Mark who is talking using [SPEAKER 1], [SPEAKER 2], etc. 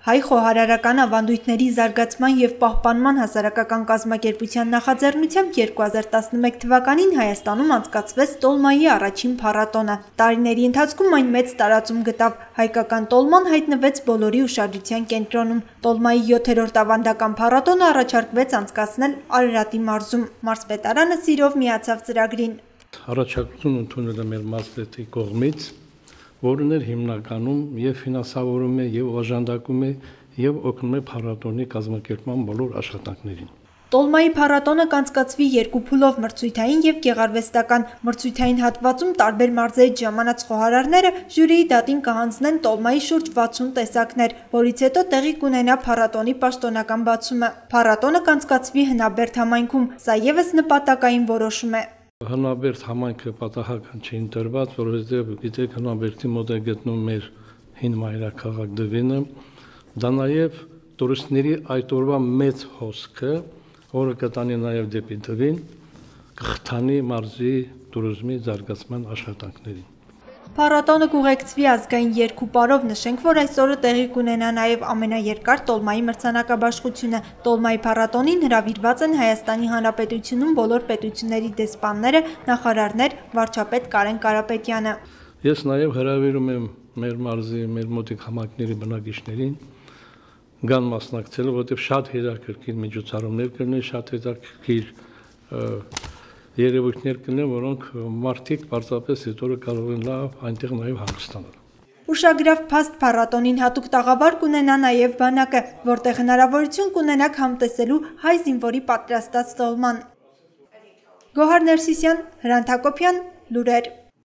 [SPEAKER 1] Հայ խոհարարական ավանդույթների զարգացման և պահպանման հասարակական կազմակերպության նախաձեռնությամբ 2011 թվականին Հայաստանում անցկացվեց տոլմայի առաջին փառատոնը։ Տարիների ընթացքում այն մեծ տարածում գտավ, հայկական տոլման հայտնվեց բոլորի ուշադրության կենտրոնում։ Տոլմայի 7-րդ ավանդական փառատոնը առաջարկվեց անցկացնել Արարատի մարզում։ Մարզպետարանը սիրով միացավ ծրագրին։
[SPEAKER 2] Առաջարկություն ընդունել է մեր մարզպետի կողմից, որն էր հիմնականում և ֆինանսավորում է, և օժանդակում է, և օգնում է փառատոնի կազմակերպման բոլոր աշխատանքներին։
[SPEAKER 1] Տոլմայի փառատոնը կանցկացվի երկու փուլով՝ մրցույթային և գեղարվեստական։ Մրցույթային հատվածում տարբեր մարզերից ժամանած խոհարարները ժյուրիի դատին կհանձնեն տոլմայի շուրջ 60 տեսակներ, որից հետո տեղի կունենա փառատոնի պաշտոնական բացումը։ Փառատոնը կանցկացվի Հնաբերդ համայնքում, սա ևս նպատակային որոշում է։
[SPEAKER 2] Հնաբերդ համայնքը պատահական չի ընտրված, որովհետև գիտեք Հնաբերդի մոտ է գտնվում մեր հին մայրաքաղաք Դվինը, դա նաև տուրիստների այդ օրվա մեծ հոսքը, որը կտանի նաև դեպի Դվին, կխթանի մարզի տուրիզմի զարգացման աշխատանքներին։
[SPEAKER 1] Փառատոնը կուղեկցվի ազգային երգ ու պարով, նշենք, որ այս օրը տեղի կունենա նաև ամենաերկար տոլմայի մրցանակաբաշխությունը։ Տոլմայի փառատոնին հրավիրված են Հայաստանի Հանրապետությունում բոլոր պետությունների դեսպանները, նախարարներ, վարչապետ Կարեն Կարապետյանը։
[SPEAKER 2] Ես նաև հրավիրում եմ մեր մարզի, մեր մոտիկ համայնքների բնակիչներին գան մասնակցել, որովհետև շատ հետաքրքիր միջոցառումներ կլինեն, շատ հետաքրքիր երևույթներ կլինեն, որոնք մարդիկ պարզապես այդ օրը կարող են լավ այնտեղ նաև հանգստանալ։
[SPEAKER 1] Ուշագրավ փաստ փառատոնին հատուկ տաղավար կունենա նաև բանակը, որտեղ հնարավորություն կունենաք համտեսելու հայ զինվորի պատրաստած տոլման։ Գոհար Ներսիսյան, Հրանտ Հակոբյան, լուրեր։